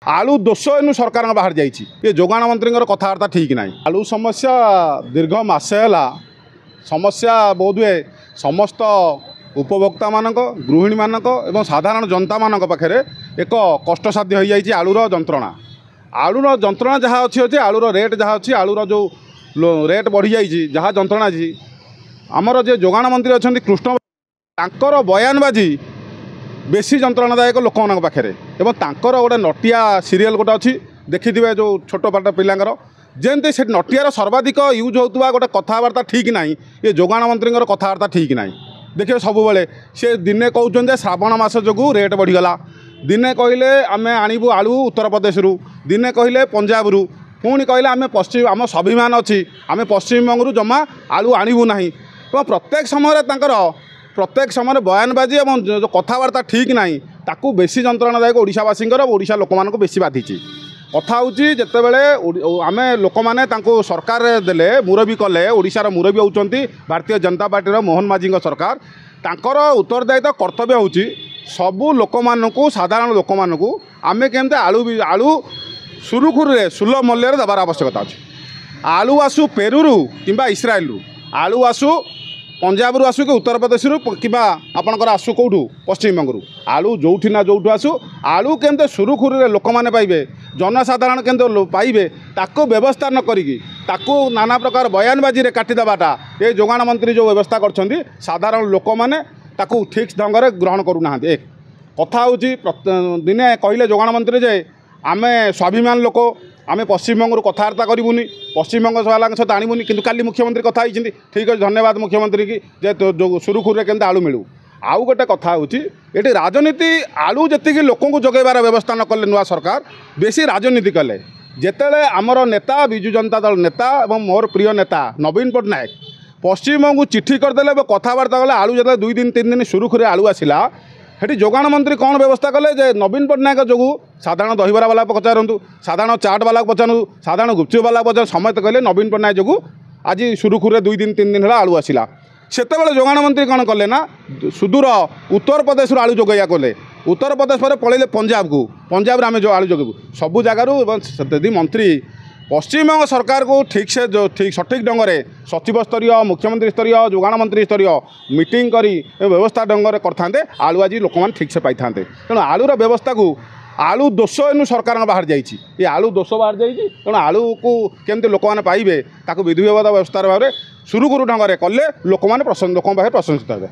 ଆଳୁ ଦୋଷ ଏନୁ ସରକାରଙ୍କ ବାହାରି ଯାଇଛି। ଏ ଯୋଗାଣ ମନ୍ତ୍ରୀଙ୍କର କଥାବାର୍ତ୍ତା ଠିକ୍ ନାହିଁ। ଆଳୁ ସମସ୍ୟା ଦୀର୍ଘ ମାସେ ହେଲା ସମସ୍ୟା ବୋଧହୁଏ ସମସ୍ତ ଉପଭୋକ୍ତାମାନଙ୍କ, ଗୃହିଣୀମାନଙ୍କ ଏବଂ ସାଧାରଣ ଜନତାମାନଙ୍କ ପାଖରେ ଏକ କଷ୍ଟସାଧ୍ୟ ହୋଇଯାଇଛି। ଆଳୁର ଯନ୍ତ୍ରଣା, ଆଳୁର ଯନ୍ତ୍ରଣା ଯାହା ଅଛି ଅଛି, ଆଳୁର ରେଟ୍ ଯାହା ଅଛି, ଆଳୁର ଯେଉଁ ରେଟ୍ ବଢ଼ିଯାଇଛି, ଯାହା ଯନ୍ତ୍ରଣା ଅଛି, ଆମର ଯେ ଯୋଗାଣ ମନ୍ତ୍ରୀ ଅଛନ୍ତି କୃଷ୍ଣ, ତାଙ୍କର ବୟାନବାଜି ବେଶୀ ଯନ୍ତ୍ରଣାଦାୟକ ଲୋକମାନଙ୍କ ପାଖରେ। ଏବଂ ତାଙ୍କର ଗୋଟେ ନଟିଆ ସିରିଏଲ୍ ଗୋଟେ ଅଛି, ଦେଖିଥିବେ, ଯେଉଁ ଛୋଟ ପାଟ ପିଲାଙ୍କର ଯେମିତି, ସେ ନଟିଆର ସର୍ବାଧିକ ୟୁଜ୍ ହେଉଥିବା ଗୋଟେ କଥାବାର୍ତ୍ତା ଠିକ୍ ନାହିଁ। ଏ ଯୋଗାଣ ମନ୍ତ୍ରୀଙ୍କର କଥାବାର୍ତ୍ତା ଠିକ୍ ନାହିଁ। ଦେଖିବେ, ସବୁବେଳେ ସେ ଦିନେ କହୁଛନ୍ତି ଯେ ଶ୍ରାବଣ ମାସ ଯୋଗୁଁ ରେଟ୍ ବଢ଼ିଗଲା, ଦିନେ କହିଲେ ଆମେ ଆଣିବୁ ଆଳୁ ଉତ୍ତରପ୍ରଦେଶରୁ, ଦିନେ କହିଲେ ପଞ୍ଜାବରୁ, ପୁଣି କହିଲେ ଆମେ ପଶ୍ଚିମ, ଆମ ସ୍ୱାଭିମାନ ଅଛି, ଆମେ ପଶ୍ଚିମବଙ୍ଗରୁ ଜମା ଆଳୁ ଆଣିବୁ ନାହିଁ। ଏବଂ ପ୍ରତ୍ୟେକ ସମୟରେ ତାଙ୍କର ପ୍ରତ୍ୟେକ ସମୟରେ ବୟାନବାଜି ଏବଂ ଯେଉଁ କଥାବାର୍ତ୍ତା ଠିକ୍ ନାହିଁ, ତାକୁ ବେଶୀ ଯନ୍ତ୍ରଣାଦାୟକ ଓଡ଼ିଶାବାସୀଙ୍କର, ଓଡ଼ିଶା ଲୋକମାନଙ୍କୁ ବେଶୀ ବାଧିଛି। କଥା ହେଉଛି, ଯେତେବେଳେ ଆମେ ଲୋକମାନେ ତାଙ୍କୁ ସରକାରରେ ଦେଲେ, ମୁରବୀ କଲେ, ଓଡ଼ିଶାର ମୁରବୀ ହେଉଛନ୍ତି ଭାରତୀୟ ଜନତା ପାର୍ଟିର ମୋହନ ମାଝୀଙ୍କ ସରକାର, ତାଙ୍କର ଉତ୍ତରଦାୟିତ୍ୱ କର୍ତ୍ତବ୍ୟ ହେଉଛି ସବୁ ଲୋକମାନଙ୍କୁ, ସାଧାରଣ ଲୋକମାନଙ୍କୁ ଆମେ କେମିତି ଆଳୁ ଆଳୁ ସୁରୁଖୁରୁରେ ସୁଲଭ ମୂଲ୍ୟରେ ଦେବାର ଆବଶ୍ୟକତା ଅଛି। ଆଳୁ ଆସୁ ପେରୁରୁ କିମ୍ବା ଇସ୍ରାଏଲରୁ, ଆଳୁ ଆସୁ ପଞ୍ଜାବରୁ ଆସୁ କି ଉତ୍ତରପ୍ରଦେଶରୁ କିମ୍ବା ଆପଣଙ୍କର ଆସୁ କେଉଁଠୁ ପଶ୍ଚିମବଙ୍ଗରୁ, ଆଳୁ ଯେଉଁଠି ନା ଯେଉଁଠୁ ଆସୁ, ଆଳୁ କେମିତି ସୁରୁଖୁରୁରେ ଲୋକମାନେ ପାଇବେ, ଜନସାଧାରଣ କେମିତି ପାଇବେ, ତାକୁ ବ୍ୟବସ୍ଥା ନ କରିକି ତାକୁ ନାନା ପ୍ରକାର ବୟାନବାଜିରେ କାଟିଦେବାଟା ଏ ଯୋଗାଣ ମନ୍ତ୍ରୀ ଯେଉଁ ବ୍ୟବସ୍ଥା କରିଛନ୍ତି, ସାଧାରଣ ଲୋକମାନେ ତାକୁ ଠିକ୍ ଢଙ୍ଗରେ ଗ୍ରହଣ କରୁନାହାନ୍ତି। ଏକ କଥା ହେଉଛି, ଦିନେ କହିଲେ ଯୋଗାଣ ମନ୍ତ୍ରୀ ଯେ ଆମେ ସ୍ୱାଭିମାନ ଲୋକ, ଆମେ ପଶ୍ଚିମବଙ୍ଗରୁ କଥାବାର୍ତ୍ତା କରିବୁନି, ପଶ୍ଚିମବଙ୍ଗ ବାଲାଙ୍କ ସହିତ ଆଣିବୁନି। କିନ୍ତୁ କାଲି ମୁଖ୍ୟମନ୍ତ୍ରୀ କଥା ହେଇଛନ୍ତି। ଠିକ୍ ଅଛି, ଧନ୍ୟବାଦ ମୁଖ୍ୟମନ୍ତ୍ରୀକି ଯେ ସୁରୁଖୁରୁରେ କେମିତି ଆଳୁ ମିଳୁ। ଆଉ ଗୋଟେ କଥା ହେଉଛି, ଏଠି ରାଜନୀତି, ଆଳୁ ଯେତିକି ଲୋକଙ୍କୁ ଯୋଗାଇବାର ବ୍ୟବସ୍ଥା ନ କଲେ ନୂଆ ସରକାର, ବେଶୀ ରାଜନୀତି କଲେ। ଯେତେବେଳେ ଆମର ନେତା, ବିଜୁ ଜନତା ଦଳ ନେତା ଏବଂ ମୋର ପ୍ରିୟ ନେତା ନବୀନ ପଟ୍ଟନାୟକ ପଶ୍ଚିମବଙ୍ଗକୁ ଚିଠି କରିଦେଲେ ଏବଂ କଥାବାର୍ତ୍ତା କଲେ, ଆଳୁ ଯେତେବେଳେ 2 ଦିନ 3 ଦିନ ସୁରୁଖୁରୁରେ ଆଳୁ ଆସିଲା, ସେଠି ଯୋଗାଣ ମନ୍ତ୍ରୀ କ'ଣ ବ୍ୟବସ୍ଥା କଲେ ଯେ ନବୀନ ପଟ୍ଟନାୟକ ଯୋଗୁଁ ସାଧାରଣ ଦହିବରା ବାଲାକୁ ପଚାରନ୍ତୁ, ସାଧାରଣ ଚାଟ୍ ବାଲାକୁ ପଚାରନ୍ତୁ, ସାଧାରଣ ଗୁପଚୁପ ବାଲାକୁ ପଚାରନ୍ତୁ, ସମସ୍ତେ କହିଲେ ନବୀନ ପଟ୍ଟନାୟକ ଯୋଗୁଁ ଆଜି ସୁରୁଖୁରୁରେ 2 ଦିନ 3 ଦିନ ହେଲା ଆଳୁ ଆସିଲା। ସେତେବେଳେ ଯୋଗାଣ ମନ୍ତ୍ରୀ କ'ଣ କଲେ ନା ସୁଦୂର ଉତ୍ତରପ୍ରଦେଶରୁ ଆଳୁ ଯୋଗାଇବା କଲେ। ଉତ୍ତରପ୍ରଦେଶ ପରେ ପଳେଇଲେ ପଞ୍ଜାବକୁ, ପଞ୍ଜାବରେ ଆମେ ଯେଉଁ ଆଳୁ ଯୋଗାଇବୁ ସବୁ ଜାଗାରୁ। ଏବଂ ଯଦି ମନ୍ତ୍ରୀ ପଶ୍ଚିମବଙ୍ଗ ସରକାରକୁ ଠିକ୍ସେ ଯେଉଁ ଠିକ୍ ସଠିକ୍ ଢଙ୍ଗରେ ସଚିବ ସ୍ତରୀୟ, ମୁଖ୍ୟମନ୍ତ୍ରୀ ସ୍ତରୀୟ, ଯୋଗାଣ ମନ୍ତ୍ରୀ ସ୍ତରୀୟ ମିଟିଂ କରି ବ୍ୟବସ୍ଥା ଢଙ୍ଗରେ କରିଥାନ୍ତେ, ଆଳୁ ଆଜି ଲୋକମାନେ ଠିକ୍ସେ ପାଇଥାନ୍ତେ। ତେଣୁ ଆଳୁର ବ୍ୟବସ୍ଥାକୁ, ଆଳୁ ଦୋଷ ଏନୁ ସରକାରଙ୍କ ବାହାରି ଯାଇଛି। ଏ ଆଳୁ ଦୋଷ ବାହାରି ଯାଇଛି। ତେଣୁ ଆଳୁକୁ କେମିତି ଲୋକମାନେ ପାଇବେ, ତାକୁ ବିଧି ବ୍ୟବସ୍ଥାର ଭାବରେ ସୁରୁଖୁରୁ ଢଙ୍ଗରେ କଲେ ଲୋକମାନେ ଲୋକଙ୍କ ପାଖରେ ପ୍ରଶଂସିତ ହେବେ।